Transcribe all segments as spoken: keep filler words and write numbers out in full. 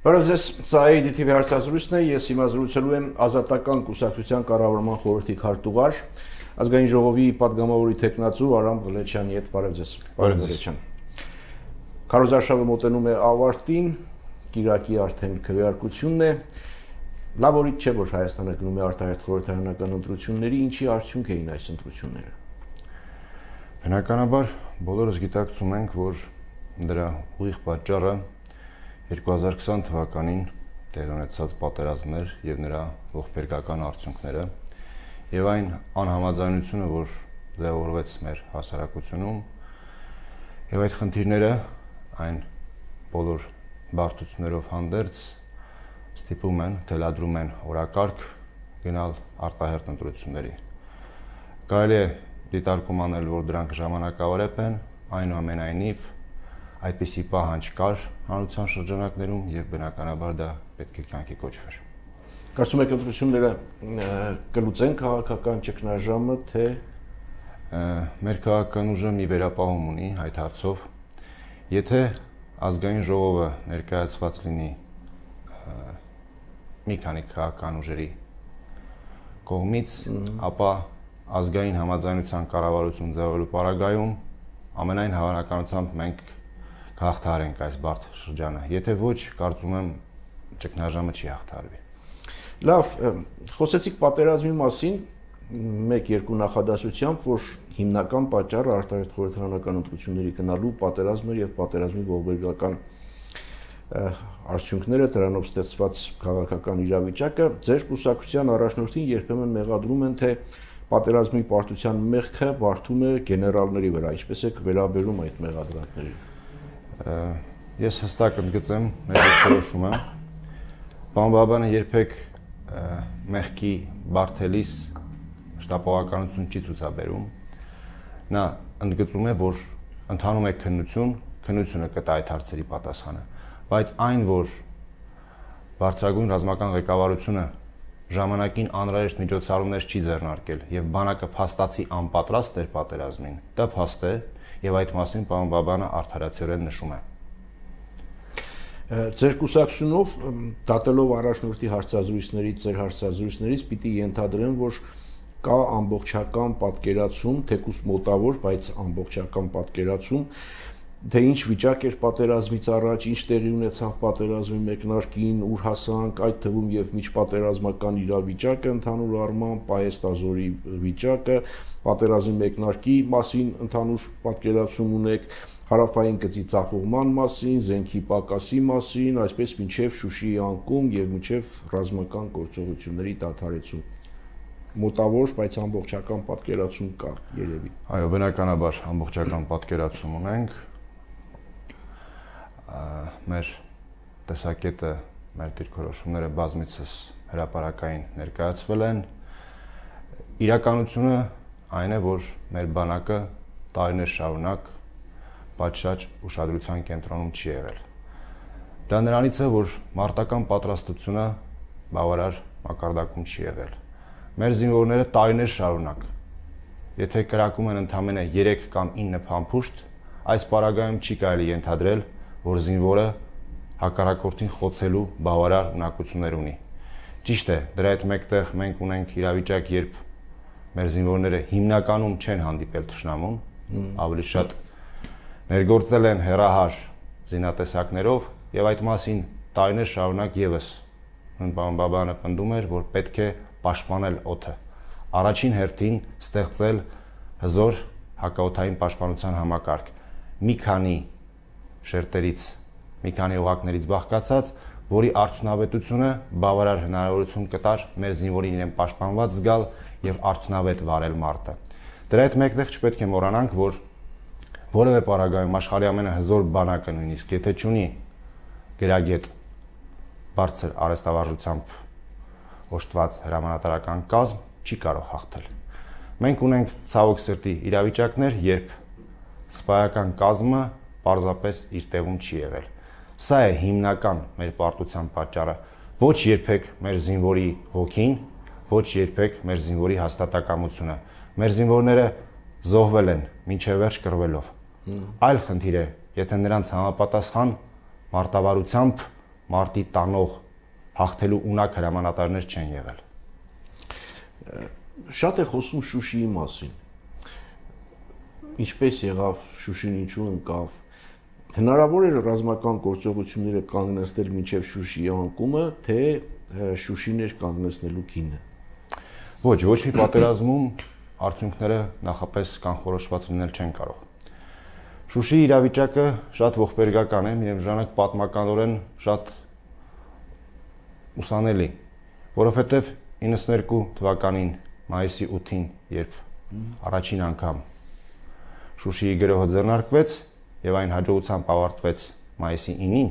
Բարև ձեզ, սա է դի թի վի հարցազրույցն է, ես հիմա զրուցելու եմ Ազատական կուսակցության կառավարման խորհրդի քարտուղար, Ազգային ժողովի պատգամավորի թեկնածու Արամ Ղլեչյանի հետ։ Բարև ձեզ։ Բարև ձեզ։ Քարոզարշավը մոտենում է ավարտին, կիրակի արդեն քվեարկությունն է։ Լավ օրից չէ, որ Հայաստանը գնում է արտահերթ խորհրդարանական ընտրությունների, ինչի արդյունք էին այս ընտրությունները։ Բնականաբար բոլորս գիտակցում ենք, որ դրա ուղիղ պատճառը երկու հազար քսան թվականին տեղի ունեցած պատերազմներ եւ նրա ողբերգական արդյունքները եւ այն անհամաձայնությունը, որ ձևավորվեց մեր հասարակությունում եւ այդ խնդիրները այն բոլոր բարդություններով հանդերձ ստիպում են, թելադրում են օրակարգ գնալ արտահերթ ընտրությունների։ Կարելի է դիտարկում անել, որ դրանք ժամանակավորեպ են, այնուամենայնիվ այդպիսի պահանջ կար հանրության շրջանակներում եւ բնականաբար դա պետք է կյանքի կոչվեր։ Կարծում եք ընտրությունները կլուծեն քաղաքական ճգնաժամը, թե մեր քաղաքական ուժը մի վերապահում ունի այդ հարցով, եթե ազգային ժողովը ներկայացված լինի մի քանի քաղաքական ուժերի կողմից, ապա ազգային համաձայնության կառավարություն ձևավորելու պարագայում ամենայն հավանականությամբ մենք կհաղթահարենք այս բարդ շրջանը, եթե ոչ, կարծում եմ ճգնաժամը չի հաղթահարվի։ Լավ, խոսեցիք պատերազմի մասին մեկ-երկու նախադասությամբ, որ հիմնական պատճառը արտահերթ խորհրդարանական ընտրությունների գնալու պատերազմն էր եւ պատերազմի ողբերգական արդյունքները, դրանով ստեղծված քաղաքական իրավիճակը, ձեր կուսակցության առաջնորդին երբեմն մեղադրում են, թե պատերազմի պարտության մեղքը բարդում է գեներալների վրա, ինչպես եք վերաբերում այդ մեղադրանքներին։ Ես հստակ ընդգծեմ մեր որոշումը, պարոն Բաբայանը երբեք մեղքի բարդելիս շտապողականություն չի ցուցաբերում, նա ընդգծում է, որ ընթանում է քննություն, քննությունը կտա այդ հարցերի պատասխանը, բայց այն, որ բարձրագույն ռազմական ղեկավարությունը ժամանակին անհրաժեշտ միջոցառումներ չի ձեռնարկել եւ բանակը փաստացի անպատրաստ էր պատերազմին, դա փաստ է եւ այդ մասին պարոն Բաբայանը արդարացիորեն նշում է։ Ձեր կուսակցությունով դատելով առաջնորդի հարցազրույցներից, ձեր հարցազրույցներից պիտի ենթադրեմ, որ կա ամբողջական պատկերացում, թեկուզ մոտավոր, բայց ամբողջական պատկերացում, թե ինչ վիճակ էր պատերազմից առաջ, ինչ տեղի ունեցավ պատերազմի մեկնարկին, ուր հասանք, այդ թվում եւ միջպատերազմական իրավիճակը, ընդհանուր առմամբ պայեստազորի վիճակը, պատերազմի մեկնարկի մասին ընդհանուր պատկերացում ունեք, հարավային գծի ձախողման մասին, զենքի պակասի մասին, այսպես մինչև Շուշիի անկում եւ մինչև ռազմական գործողությունների դադարեցում։ Մոտավոր, բայց ամբողջական պատկերացում կա, երևի։ Այո, բնականաբար ամբողջական պատկերացում ունենք։ Մեր տեսակետը, մեր դիրքորոշումները բազմիցս հրապարակային ներկայացվել են։ Իրականությունը այն է, որ մեր բանակը տարիներ շարունակ պատշաճ ուշադրության կենտրոնում չի եղել։ Դա նրանից է, որ մարտական պատրաստությունը բավարար մակարդակում չի եղել։ Մեր զինվորները տարիներ շարունակ, եթե կրակում են ընդամենը երեք կամ ինը փամփուշտ, այս պարագայում չի կարելի ենթադրել, որ զինվորը հակառակորդին խոցելու բավարար ունակություններ ունի։ Ճիշտ է, դրա հետ մեկտեղ մենք ունենք իրավիճակ, երբ մեր զինվորները հիմնականում չեն հանդիպել թշնամուն, ավելի շատ ներգործել են հեռահար զինատեսակներով եւ այդ մասին տարիներ շարունակ եւս պարոն Բաբայանը պնդում էր, որ պետք է պաշտպանել օդը, առաջին հերթին ստեղծել հզոր հակաօդային պաշտպանության համակարգ, մի քանի շերտերից, մի քանի օղակներից բաղկացած, որի արդյունավետությունը բավարար հնարավորություն կտար մեր զինվորին իրեն պաշտպանված զգալ եւ արդյունավետ վարել մարտը։ Դրա հետ մեկտեղ չպետք է մոռանանք, որ որևէ պարագայում աշխարհի ամենահզոր բանակը նույնիսկ եթե չունի գրագետ բարձր արհեստավարժությամբ օժտված հրամանատարական կազմ, չի կարող հաղթել։ Մենք ունենք ցավոք սրտի իրավիճակներ, երբ սպայական կազմը պարզապես իր տեղում չի եղել։ Սա է հիմնական մեր պարտության պատճառը։ Ոչ երբեք մեր զինվորի ոգին, ոչ երբեք մեր զինվորի հաստատակամությունը։ Մեր զինվորները զոհվել են մինչև վերջ կռվելով։ Այլ խնդիր է, եթե նրանց համապատասխան մարտավարությամբ մարտի տանող հաղթելու ունակ հրամանատարներ չեն եղել։ Շատ է խոսում Շուշիի մասին։ Ինչպես եղավ Շուշին, ինչու ընկավ։ Հնարավոր է ռազմական գործողությունները կանգնեցնել մինչև Շուշիի անկումը, թե Շուշին էր կանգնեցնելու քինը։ Ոչ, ոչ մի պատերազմում արդյունքները նախապես կանխորոշված լինել չեն կարող։ Շուշիի իրավիճակը շատ ողբերգական է, միևնույն պատմականորեն շատ ուսանելի, որովհետև իննսուներկու թվականին մայիսի ութին, երբ առաջին անգամ Շուշիի գրոհը ձեռնարկվեց եւ այն հաջողությամբ ավարտվեց մայիսի ինին,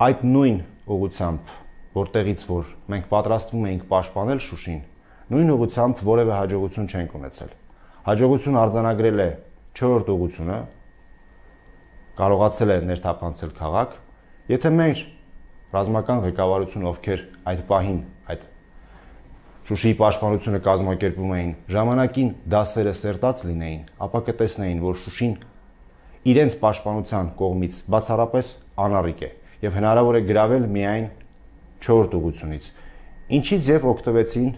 այդ նույն ուղղությամբ, որտեղից որ մենք պատրաստվում էինք պաշտպանել Շուշին, նույն ուղղությամբ որևէ հաջողություն չենք ունեցել։ Հաջողություն արձանագրել է չորրորդ ուղղությունը, կարողացել է ներթափանցել քաղաք, եթե մեր ռազմական ղեկավարությունը, ովքեր այդ պահին այդ Շուշիի պաշտպանությունը կազմակերպում էին, ժամանակին դասերը սերտած լինեին, ապա կտեսնեին, որ Շուշին իրենց պաշտպանության կողմից բացառապես անառիկ է եւ հնարավոր է գրավել միայն չորրորդ ուղղությունից, ինչից եւ օգտվեցին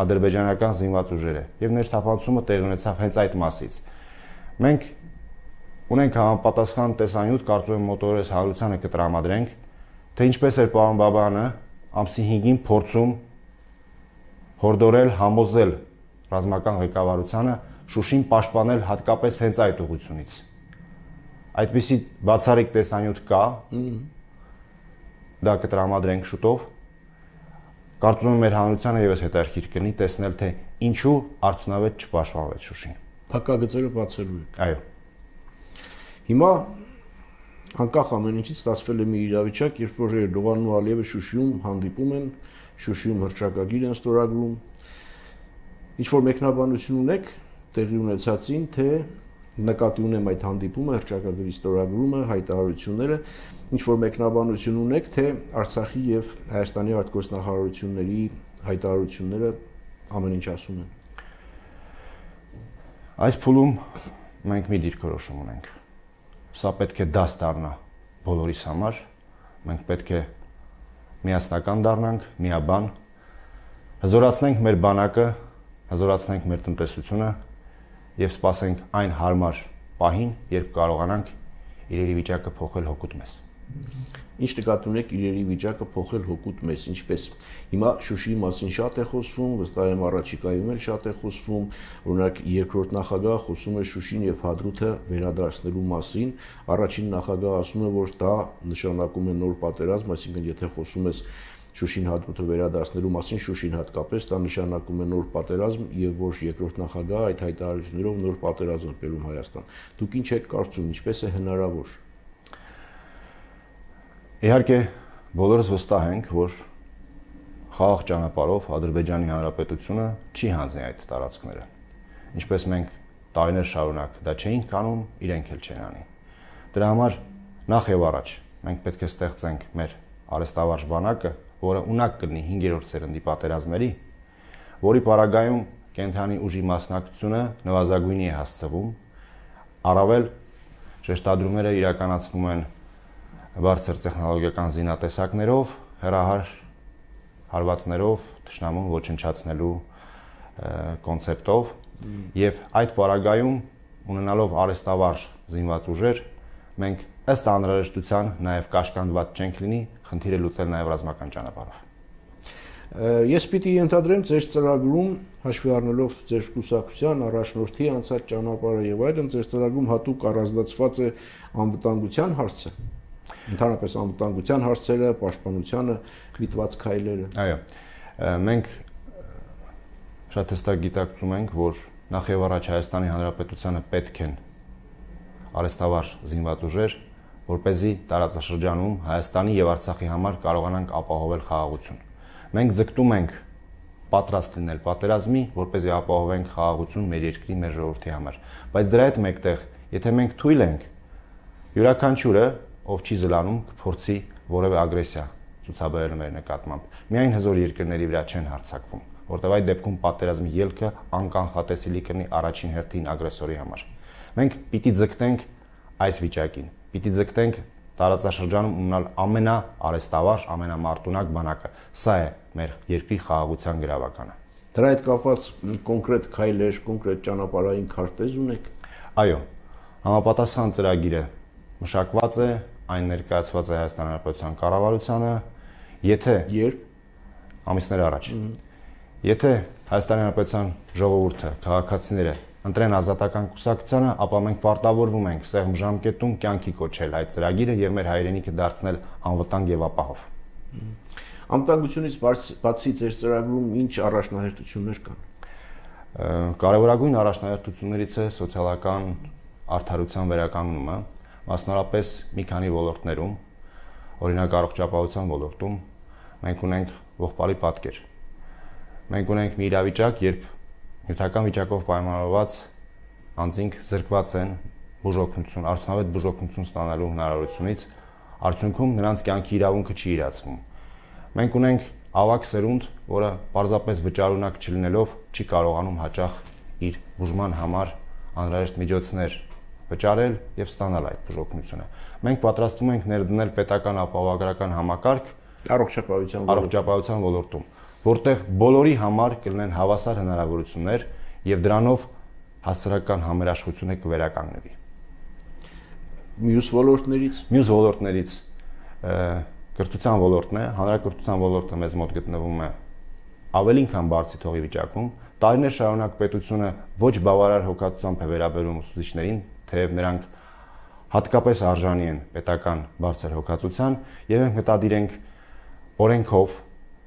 ադրբեջանական զինված ուժերը եւ ներթափանցումը տեղի ունեցավ հենց այդ մասից։ Մենք ունենք համապատասխան տեսանյութ, կարծում եմ մոտորես հանրությանը կտրամադրենք, թե ինչպես էր պարոն Բաբայանը ամսի հինգին փորձում հորդորել, համոզել ռազմական ղեկավարությանը Շուշին պաշտպանել հատկապես հենց այդ ուղղությունից։ Այդպիսի բացառիկ տեսանյութ կա, դա կտրամադրենք շուտով։ Կարծում եմ մեր հանրությանը եւս հետաքրքիր կլինի տեսնել, թե ինչու արդյունավետ չպաշտպանվեց Շուշին։ Փակագծերը բացելու եք։ Այո։ Հիմա անկախ ամեն ինչից ստացվել է մի իրավիճակ, երբ որ Էրդողանն ու Ալիևը Շուշիում հանդիպում են, Շուշիում հռչակագիր են ստորագրում։ Ինչ որ մեկնաբանություն ունեք տեղի ունեցածին, թե նկատի ունեմ այդ հանդիպումը, հռչակագրի ստորագրումը, հայտարարությունները, ինչ որ մեկնաբանություն ունեք, թե Արցախի եւ Հայաստանի արտգործնախարարությունների հայտարարությունները ամեն ինչ ասում են։ Այս փուլում մենք մի դիրքորոշում ունենք։ Սա պետք է դաս դառնա բոլորիս համար, մենք պետք է միասնական դառնանք, միաբան, հզորացնենք մեր բանակը, հզորացնենք մեր տնտեսությունը եւ սպասենք այն հարմար պահին, երբ կարողանանք իրերի վիճակը փոխել հօգուտ մեզ։ Ինչ նկատի ունեք իրերի վիճակը փոխել հօգուտ մեզ, ինչպես հիմա Շուշիի մասին շատ է խոսվում, վստահ եմ առաջիկայում էլ շատ է խոսվում, օրինակ երկրորդ նախագահը խոսում է Շուշին եւ Հադրութը վերադարձնելու մասին, առաջին նախագահը ասում է, որ դա նշանակում է նոր պատերազմ, այսինքն եթե խոսում ես Շուշին Հադրութը վերադարձնելու մասին, Շուշին հատկապես դա նշանակում է նոր պատերազմ եւ ոչ երկրորդ նախագահը այդ հայտարարություններով նոր պատերազմ բերում Հայաստան։ Դուք ինչ եք կարծում, ինչպես է հնարավոր։ Իհարկե, բոլորս վստահ ենք, որ խաղաղ ճանապարհով Ադրբեջանի Հանրապետությունը չի հանձնի այդ տարածքները։ Ինչպես մենք տարիներ շարունակ դա չէինք անում, իրենք էլ չեն անի։ Դրա համար նախ եւ առաջ մենք պետք է ստեղծենք մեր արհեստավարժ բանակը, որը ունակ կլինի հինգերորդ սերնդի պատերազմների, որի պարագայում կենթանի ուժի մասնակցությունը նվազագույնի է հասցվում, առավել շեշտադրումները իրականացվում են բարձր տեխնոլոգիական զինատեսակներով, հեռահար հարվածներով, թշնամուն ոչնչացնելու կոնցեպտով եւ այդ պարագայում ունենալով արհեստավարժ զինված ուժեր, մենք ըստ անհրաժեշտության նաեւ կաշկանդված չենք լինի խնդիրը լուծել նաեւ ռազմական ճանապարհով։ Ես պիտի ենթադրեմ ձեր ծրագրում հաշվի առնելով ձեր կուսակցության առաջնորդի անցած ճանապարհը եւ այլն, ձեր ծրագրում հատուկ առանձնացված է անվտանգության հարցը։ Ընդհանրապես անվտանգության հարցերը, պաշտպանությանը միտված քայլերը։ Այո։ Մենք շատ հստակ գիտակցում ենք, որ նախ եւ առաջ Հայաստանի Հանրապետությանը պետք են արհեստավարժ զինված ուժեր, որպեսզի տարածաշրջանում Հայաստանի եւ Արցախի համար կարողանանք ապահովել խաղաղություն։ Մենք ձգտում ենք պատրաստ լինել պատերազմի, որպեսզի ապահովենք խաղաղություն մեր երկրի, մեր ժողովրդի համար։ Բայց դրա հետ մեկտեղ, եթե մենք թույլ ենք, յուրաքանչյուրը, ով չի զլանում, կփորձի որևէ ագրեսիա ցուցաբերել մեր նկատմամբ։ Միայն հզոր երկրների վրա չեն հարձակվում, որտեղ այդ դեպքում պատերազմի ելքը անկանխատեսելի կլինի առաջին հերթին ագրեսորի համար։ Մենք պիտի ձգտենք այս վիճակին, պիտի ձգտենք տարածաշրջանում ունենալ ամենաարեստավարժ, ամենամարտունակ բանակը։ Սա է մեր երկրի խաղաղության գրավականը։ Դրա հետ կապված կոնկրետ քայլեր, կոնկրետ ճանապարհային քարտեզ ունեք։ Այո, համապատասխան ծրագիրը մշակված է, այն ներկայացված է Հայաստանի Հանրապետության կառավարությանը, եթե երբ ամիսներ առաջ, եթե Հայաստանի Հանրապետության ժողովուրդը, քաղաքացիները ընտրեն ազատական կուսակցությանը, ապա մենք պարտավորվում ենք սեղմ ժամկետում կյանքի կոչել այդ ծրագիրը եւ մեր հայրենիքը դարձնել անվտանգ եւ ապահով։ Անվտանգությունից բացի ձեր ծրագրում ինչ առաջնահերթություններ կան։ Կարևորագույն առաջնահերթություններից է սոցիալական արդարության վերականգնումը, մասնավորապես մի քանի ոլորտներում, օրինակ առողջապահության ոլորտում, մենք ունենք ողբալի պատկեր։ Մենք ունենք մի իրավիճակ, երբ նյութական վիճակով պայմանավորված անձինք զրկված են բուժօգնություն, արդյունավետ բուժօգնություն ստանալու հնարավորությունից, արդյունքում նրանց կյանքի իրավունքը չի իրացվում։ Մենք ունենք ավագ սերունդ, որը պարզապես վճարունակ չլինելով չի կարողանում հաճախ իր բուժման համար անհրաժեշտ միջոցներ վճարել եւ ստանալ այդ բուժօգնությունը։ Մենք պատրաստվում ենք ներդնել պետական ապահովագրական համակարգ առողջապահության առողջապահության ոլորտում, որտեղ բոլորի համար կլինեն հավասար հնարավորություններ եւ դրանով հասարակական համերաշխությունը կվերականգնվի։ Մյուս ոլորտներից, մյուս ոլորտներից կրթության ոլորտն է, հանրակրթության ոլորտը մեզ մոտ գտնվում է ավելին քան բարձի թողի վիճակում։ Տարիներ շարունակ պետությունը ոչ բավարար հոգատությամբ է վերաբերում ուսուցիչներին, թեև նրանք հատկապես արժանի են պետական բարձր հոգացության, եւ մենք մտադիր ենք օրենքով,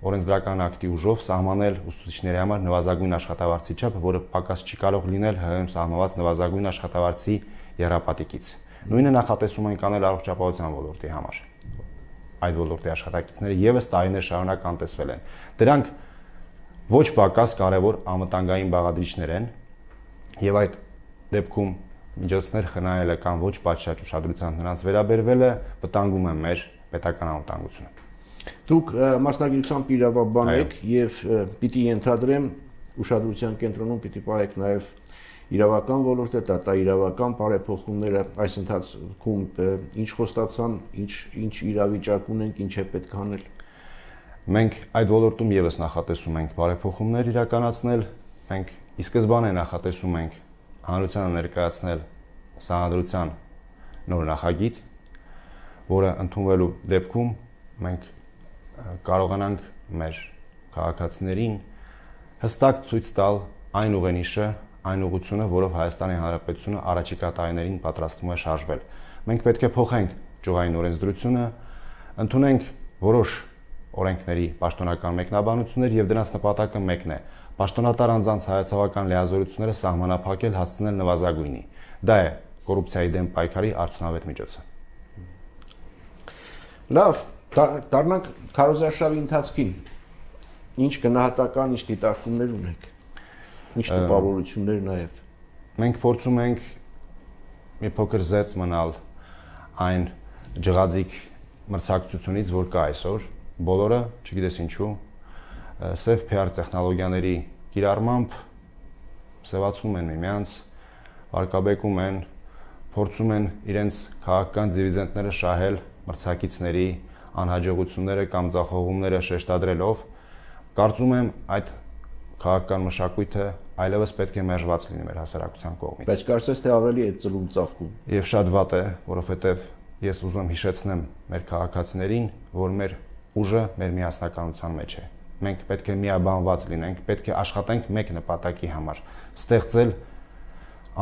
օրենսդրական ակտի ուժով սահմանել ուսուցիչների համար նվազագույն աշխատավարձի չափը, որը պակաս չի կարող լինել ՀՀ-ում սահմանված նվազագույն աշխատավարձի եռապատիկից։ Նույնը նախատեսում ենք անել առողջապահության ոլորտի համար։ Այդ ոլորտի աշխատակիցները եւս տարիներ շարունակ անտեսվել են։ Դրանք ոչ պակաս կարևոր անվտանգային բաղադրիչներ են եւ այդ դեպքում միջոցներ խնայելը կամ ոչ պատշաճ ուշադրությամբ նրանց վերաբերվելը վտանգում է մեր պետական անվտանգությունը։ Դուք մասնագիտությամբ իրավաբան եք եւ պիտի ենթադրեմ ուշադրության կենտրոնում պիտի պահեք նաեւ իրավական ոլորտը, դատաիրավական բարեփոխումները, այս ընթացքում ինչ խոստացան, ինչ ինչ իրավիճակ ունենք, ինչ է պետք անել։ Մենք այդ ոլորտում եւս նախատեսում ենք բարեփոխումներ իրականացնել, մենք ի սկզբանե նախատեսում ենք հանրությանը ներկայացնել սահմանադրության նոր նախագիծ, որը ընդունվելու դեպքում մենք կարողանանք մեր քաղաքացիներին հստակ ցույց տալ այն ուղենիշը, այն ուղղությունը, որով Հայաստանի Հանրապետությունը առաջիկա տարիներին պատրաստվում է շարժվել։ Մենք պետք է փոխենք ճյուղային օրենսդրությունը, ընդունենք որոշ օրենքների պաշտոնական մեկնաբանություններ եւ դրանց նպատակը մեկն է՝ պաշտոնատար անձանց հայացավական լիազորությունները սահմանափակել, հասցնել նվազագույնի։ Դա է կոռուպցիայի դեմ պայքարի արդյունավետ միջոցը։ Լավ, դառնանք քարոզարշավի ընթացքին։ Ինչ գնահատական, ինչ դիտարկումներ ունեք։ Ինչ տպավորություններ նաեւ։ Մենք փորձում ենք մի փոքր զերծ մնալ այն ջղաձիկ մրցակցությունից, որ կա այսօր, բոլորը, չգիտես ինչու, սև P R տեխնոլոգիաների կիրառմամբ սևացնում են միմյանց, վարկաբեկում են, փորձում են իրենց քաղաքական դիվիդենդները շահել մրցակիցների անհաջողությունները կամ ձախողումները շեշտադրելով, կարծում եմ այդ քաղաքական մշակույթը այլևս պետք է մերժված լինի մեր հասարակության կողմից։ Բայց կարծես թե ավելի է ծլում ծաղկում։ Եվ շատ վատ է, որովհետև ես ուզում եմ հիշեցնեմ մեր քաղաքացիներին, որ մեր ուժը մեր միասնականության մեջ է։ Մենք պետք է միաբանված լինենք, պետք է աշխատենք մեկ նպատակի համար՝ ստեղծել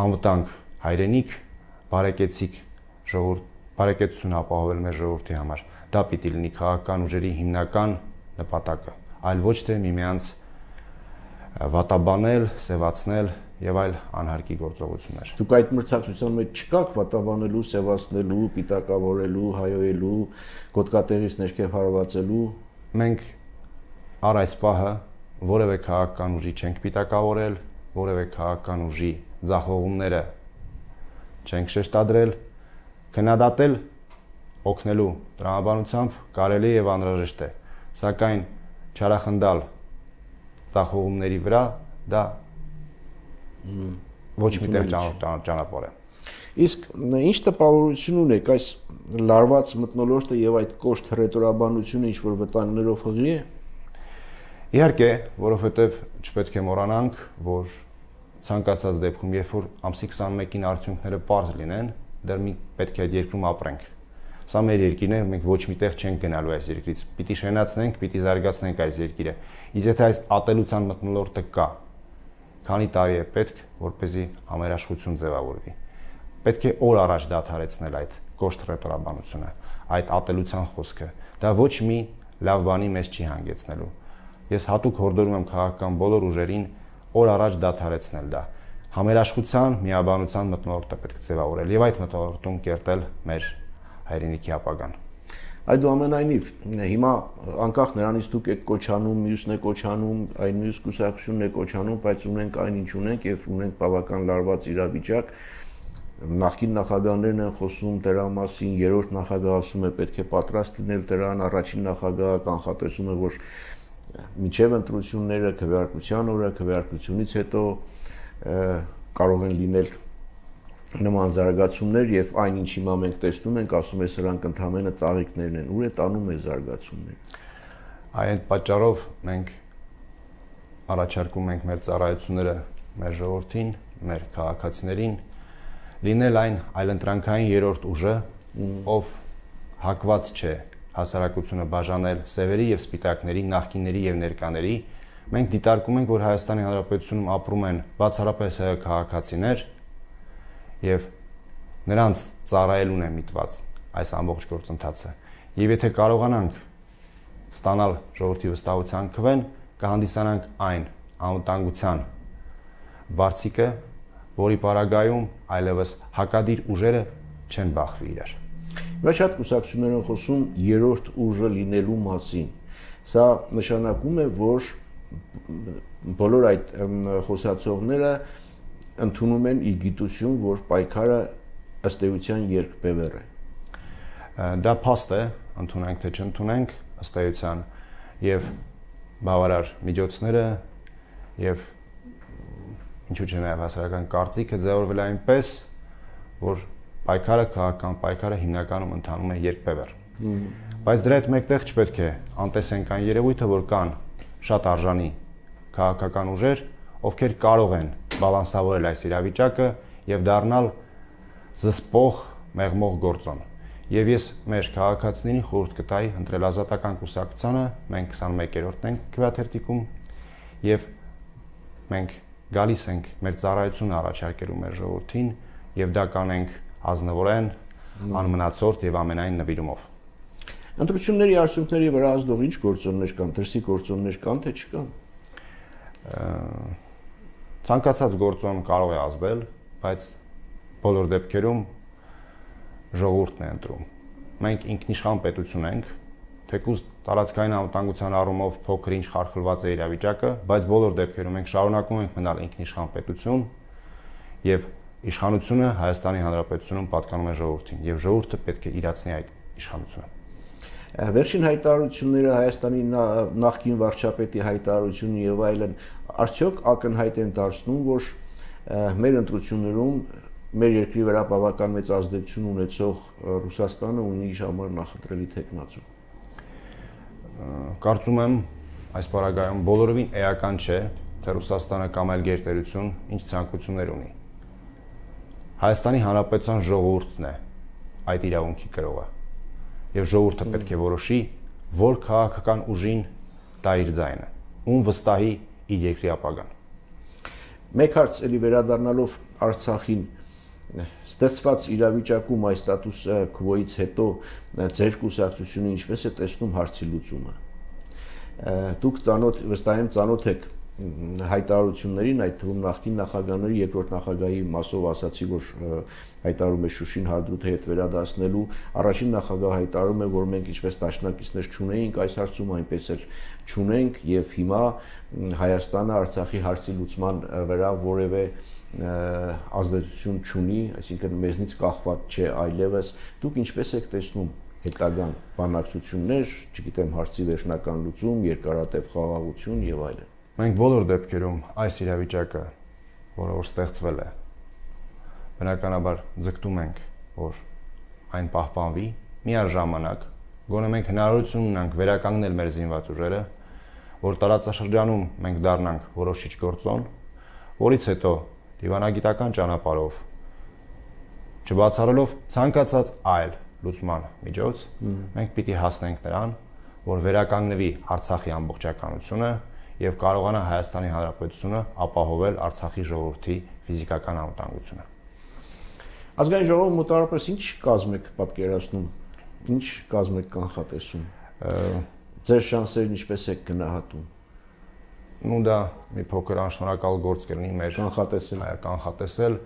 անվտանգ հայրենիք, բարեկեցիկ ժողովուրդ, բարեկեցություն ապահովել մեր ժողովրդի համար։ Դա պիտի լինի քաղաքական ուժերի հիմնական նպատակը, այլ ոչ թե միմյանց վատաբանել, սևացնել եւ այլ անհարկի գործողություններ։ Դուք այդ մրցակցության մեջ չկաք վատաբանելու, սևացնելու, պիտակավորելու, հայոյելու, գոտկատեղից ներքև հարվածելու։ Մենք առ այս պահը որևէ քաղաքական ուժի չենք պիտակավորել, որևէ քաղաքական ուժի ձախողումները չենք շեշտադրել, քննադատել օգնելու տրամաբանությամբ կարելի եւ անհրաժեշտ է, սակայն չարախնդալ ձախողումների վրա դա ոչ մի տեղ ճանապարհ է։ Իսկ ինչ տպավորություն ունեք այս լարված մթնոլորտը եւ այդ կոշտ հռետորաբանությունը ինչ որ վտանգներով հղի է։ Իհարկե, որովհետեւ չպետք է մոռանանք, որ ցանկացած դեպքում, երբ որ ամսի քսանմեկին արդյունքները པարզ լինեն, դեռ մենք պետք է այդ երկրում ապրենք։ Սա մեր երկիրն է, մենք ոչ միտեղ չենք գնալու այս երկրից։ Պիտի շենացնենք, պիտի զարգացնենք այս երկիրը։ Իսկ եթե այս ատելության մթնոլորտը կա, քանի տարի է պետք, որպեսզի համերաշխություն ձևավորվի։ Պետք է օր առաջ դադարեցնել այդ կոշտ հռետորաբանությունը, այդ ատելության խոսքը։ Դա ոչ մի լավ բանի մեզ չի հանգեցնելու։ Ես հատուկ հորդորում եմ քաղաքական բոլոր ուժերին օր առաջ դադարեցնել դա։ Համերաշխության, միաբանության մթնոլորտը պետք է ձևավորել եւ այդ մթնոլորտում կերտել մեր հայրենիքի ապագան։ Այդուամենայնիվ, հիմա անկախ նրանից դուք եք կոչանում, մյուսն է կոչանում, այն մյուս կուսակցությունն է կոչանում, բայց ունենք այն ինչ ունենք եւ ունենք բավական լարված իրավիճակ։ Նախկին նախագահներն են խոսում դրա մասին, երրորդ նախագահը ասում է պետք է պատրաստ լինել դրան, առաջին նախագահը կանխատեսում է, որ մինչև ընտրությունները, քվեարկության օրը, քվեարկությունից հետո կարող են լինել նման զարգացումներ եւ այն ինչ հիմա մենք տեսնում ենք, ասում է սրանք ընդհանրապես ծաղիկներն են, ուր է տանում է զարգացումները։ Այդ պատճառով մենք առաջարկում ենք մեր ծառայությունները մեր ժողովրդին, մեր քաղաքացիներին լինել այն այլընտրանքային երրորդ ուժը, ով հակված չէ հասարակությունը բաժանել սևերի եւ սպիտակների, նախկինների եւ ներկաների։ Մենք դիտարկում ենք, որ Հայաստանի Հանրապետությունում ապրում են բացառապես հայ քաղաքացիներ եւ նրանց ծառայելուն է միտված այս ամբողջ գործընթացը։ Եվ եթե կարողանանք ստանալ ժողովրդի վստահության քվեն, կհանդիսանանք այն անվտանգության բարձիկը, որի պարագայում այլևս հակադիր ուժերը չեն բախվի իրար։ Բայց շատ կուսակցություններ են խոսում երրորդ ուժը լինելու մասին։ Սա նշանակում է, որ բոլոր այդ խոսացողները ընդունում են ի գիտություն, որ պայքարը ըստ էության երկբևեռ է։ Դա փաստ է, ընդունենք թե չընդունենք, ըստ էության եւ բավարար միջոցները եւ ինչու՞ չէ նաեւ հասարակական կարծիքը ձևավորվել այնպես, որ պայքարը քաղաքական պայքարը հիմնականում ընթանում է երկբևեռ։ Բայց դրա հետ մեկտեղ չպետք է անտեսենք այն երևույթը, որ կան շատ արժանի քաղաքական ուժեր, ովքեր կարող են բալանսավորել այս իրավիճակը եւ դառնալ զսպող, մեղմող գործոն։ Եվ ես մեր քաղաքացիներին խորհուրդ կտայի ընտրել Ազատական կուսակցությանը, մենք քսանմեկերորդն ենք քվեաթերթիկում եւ մենք գալիս ենք մեր ծառայությունը առաջարկելու մեր ժողովրդին եւ դա կանենք ազնվորեն, անմնացորդ եւ ամենայն նվիրումով։ Ընտրությունների արդյունքների վրա ազդող ինչ գործոններ կան, դրսի գործոններ կան թե չկան։ Ցանկացած գործոն կարող է ազդել, բայց բոլոր դեպքերում ժողովուրդն է ընտրում։ Մենք ինքնիշխան պետություն ենք, թեկուզ տարածքային անվտանգության առումով փոքր-ինչ խարխլված է իրավիճակը, բայց բոլոր դեպքերում մենք շարունակում ենք մնալ ինքնիշխան պետություն եւ իշխանությունը Հայաստանի Հանրապետությունում պատկանում է ժողովրդին եւ ժողովուրդը պետք է իրացնի այդ իշխանությունը։ Վերջին հայտարարությունները Հայաստանի նախկին վարչապետի հայտարարությունը եւ այլն արդյոք ակնհայտ են դարձնում, որ մեր ընտրություններում մեր երկրի վրա բավական մեծ ազդեցություն ունեցող Ռուսաստանը ունի իր համար նախընտրելի թեկնածու։ Կարծում եմ այս պարագայում բոլորովին էական չէ, թե Ռուսաստանը կամ այլ գերտերություն ինչ ցանկություններ ունի։ Հայաստանի Հանրապետության ժողովուրդն է այդ իրավունքի կրողը եւ ժողովուրդը պետք է որոշի, որ քաղաքական ուժին տա իր ձայնը, ում վստահի իր երկրի ապագան։ Մեկ հարց էլի վերադառնալով Արցախին, ստեղծված իրավիճակում այս ստատուս քվոից հետո ձեր կուսակցությունը ինչպես է տեսնում հարցի լուծումը։ Դուք ծանոթ վստահ եմ ծանոթ եք հայտարարություններին, այդ թվում նախկին նախագահների, երկրորդ նախագահի մասով ասացի, որ հայտարարում է Շուշին հարդրութի հետ վերադասնելու, առաջին նախագահը հայտարարում է, որ մենք ինչպես դաշնակիցներ չունեինք այս հարցում, այնպես էլ չունենք եւ հիմա Հայաստանը Արցախի հարցի լուծման վրա որևէ ազդեցություն չունի, այսինքն մեզնից կախված չէ այլևս։ Դուք ինչպես եք տեսնում հետագան բանակցություններ, չգիտեմ, հարցի վերջնական լուծում, երկարատև խաղաղություն եւ այլն։ Մենք բոլոր դեպքերում այս իրավիճակը, որը որ ստեղծվել է, բնականաբար ձգտում ենք, որ այն պահպանվի, միաժամանակ գոնե մենք հնարավորություն ունենք վերականգնել մեր զինված ուժերը, որ տարածաշրջանում մենք դառնանք որոշիչ գործոն, որից հետո դիվանագիտական ճանապարհով չբացառելով ցանկացած այլ լուծման միջոց, մենք պիտի հասնենք նրան, որ վերականգնվի Արցախի ամբողջականությունը եւ կարողանա Հայաստանի Հանրապետությունը ապահովել Արցախի ժողովրդի ֆիզիկական անվտանգությունը։ Ազգային ժողովը մոտավորապես ինչ կազմ եք պատկերացնում, ինչ կազմ եք կանխատեսում, ձեր շանսերն ինչպես եք գնահատում։ Նու դա մի փոքր անշնորհակալ գործ կլինի մեր կանխատեսել, կանխատեսել։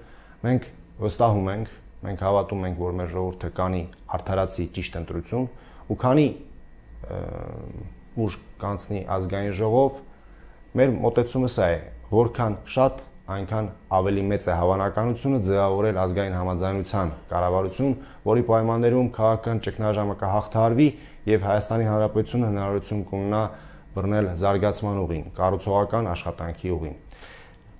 Մենք վստահում ենք, մենք հավատում ենք, որ մեր ժողովուրդը կանի արդարացի ճիշտ ընտրություն ու քանի ուժ կանցնի ազգային ժողով, մեր մոտեցումը սա է, որքան շատ այնքան ավելի մեծ է հավանականությունը ձևավորել ազգային համաձայնության կառավարություն, որի պայմաններում քաղաքական ճգնաժամը կհաղթահարվի եւ Հայաստանի Հանրապետությունը հնարավորություն կունենա բռնել զարգացման ուղին, կառուցողական աշխատանքի ուղին։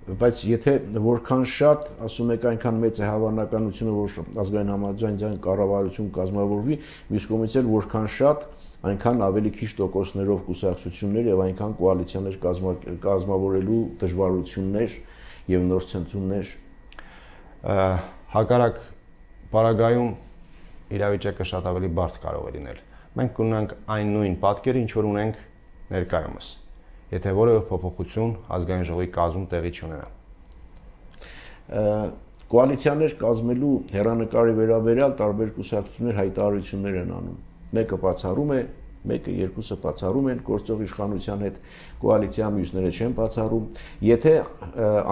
Բայց եթե որքան շատ, ասում եք, այնքան մեծ է հավանականությունը, որ ազգային համաձայնության կառավարություն կազմավորվի, մյուս կողմից էլ որքան շատ, այնքան ավելի քիչ տոկոսներով կուսակցություններ եւ այնքան կոալիցիաներ կազմավորելու դժվարություններ եւ նոր ցնցումներ, հակառակ պարագայում իրավիճակը շատ ավելի բարդ կարող է լինել։ Մենք կունենանք այն նույն պատկերը, ինչ որ ունենք ներկայումս, եթե որևէ փոփոխություն ազգային ժողովի կազմում տեղի չունենա։ Կոալիցիաներ կազմելու հեռանկարի վերաբերյալ տարբեր կուսակցություններ հայտարարություններ են անում։ Մեկը բացառում է, մեկը երկուսը բացառում են գործող իշխանության հետ, կոալիցիա մյուսները չեն բացառում։ Եթե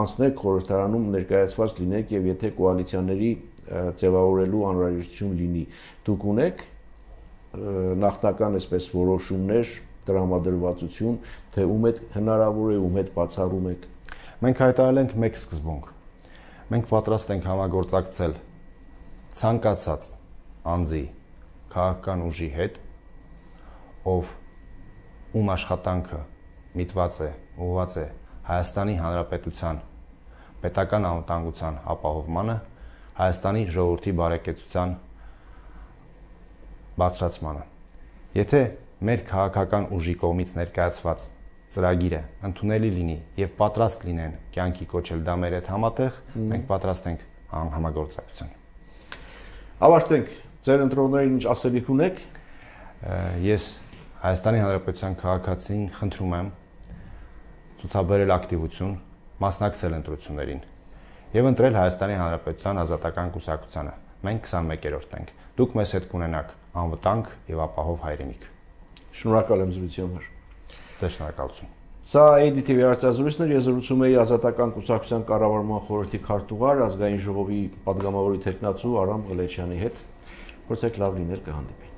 անցնեք խորհրդարանում ներկայացված լինեք եւ եթե կոալիցիաների ձևավորելու անհրաժեշտություն լինի, դուք ունեք նախնական այսպես որոշումներ, տրամադրվածություն, թե ում հետ հնարավոր է, ում հետ բացառում եք։ Մենք հայտարարել ենք մեկ սկզբունք։ Մենք պատրաստ ենք համագործակցել ցանկացած անձի քաղաքական ուժի հետ, ով ում աշխատանքը միտված է, ուղղված է Հայաստանի Հանրապետության պետական անվտանգության ապահովմանը, Հայաստանի ժողովրդի բարեկեցության բարձրացմանը։ Եթե մեր քաղաքական ուժի կողմից ներկայացված ծրագիրը ընդունելի լինի եւ պատրաստ լինեն կյանքի կոչել դա մեր հետ համատեղ, մենք պատրաստ ենք համագործակցության։ Ավարտենք, ձեր ընտրողներին ինչ ասելիք ունեք։ Ես Հայաստանի Հանրապետության քաղաքացին խնդրում եմ ցուցաբերել ակտիվություն, մասնակցել ընտրություններին եւ ընտրել Հայաստանի Հանրապետության ազատական կուսակցությանը։ Մենք քսանմեկերորդ ենք։ Դուք մեզ հետ կունենաք անվտանգ եւ ապահով հայրենիք։ Շնորհակալ եմ զրույցի համար։ Ձեզ շնորհակալություն։ Սա A D T V հարցազրույցն էր, ես զրուցում էի ազատական կուսակցության կառավարման խորհրդի քարտուղար, ազգային ժողովի падգամավորի թեկնածու Արամ Ղլեչյանի հետ։ Փորձեք լավ լինել, կհանդիպենք։